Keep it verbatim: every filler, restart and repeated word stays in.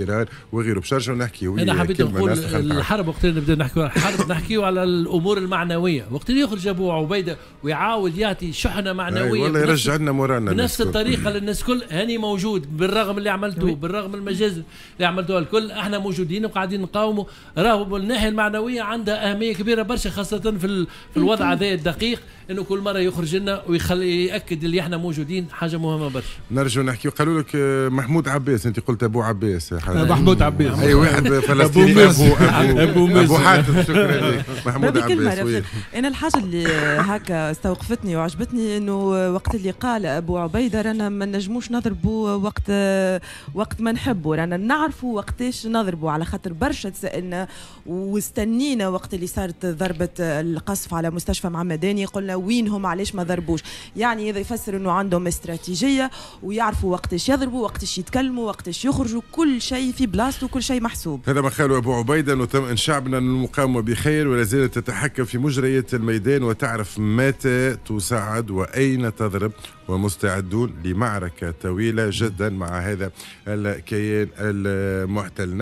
ايران وغيره. باش نرجعوا نحكيو. انا حبيت نقول الحرب، وقت اللي نبدا نحكيو على الحرب نحكيو على الامور المعنويه، وقت اللي يخرج ابو عبيده ويعاود يعطي شحنه معنوية والله يرجع لنا morale نا بنفس الطريقة للناس الكل، هاني موجود بالرغم اللي عملتوه، بالرغم المجازر اللي عملتوها الكل، احنا موجودين وقاعدين نقاوموا. راهو الناحية المعنوية عندها اهمية كبيرة برشا، خاصة في في الوضع هذا الدقيق، انه كل مرة يخرج لنا ويخلي ياكد اللي احنا موجودين، حاجة مهمة برشا. نرجع نحكي، قالوا لك محمود عباس، انت قلت ابو عباس. محمود عباس اي واحد فلسطيني، ابو ابو ابو, أبو حاتم. شكرا لك محمود عباس. انا الحاجة اللي هكا استوقفتني وعجبتني انه وقت اللي قال ابو عبيده رانا ما نجموش نضربوا وقت وقت ما نحبوا، رانا نعرفوا وقتاش نضربوا، على خاطر برشا تسالنا واستنينا وقت اللي صارت ضربه القصف على مستشفى معمداني، قلنا وينهم علاش ما ضربوش. يعني هذا يفسر انه عندهم استراتيجية ويعرفوا وقتاش يضربوا، وقتاش يتكلموا، وقتاش يخرجوا، كل شيء في بلاصته، كل شيء محسوب. هذا ما قاله ابو عبيده، نطمئن شعبنا ان المقاومة بخير ولا زالت تتحكم في مجريات الميدان وتعرف متى تصعد واين تضرب، ومستعدون لمعركه طويلة جدا مع هذا الكيان المحتل.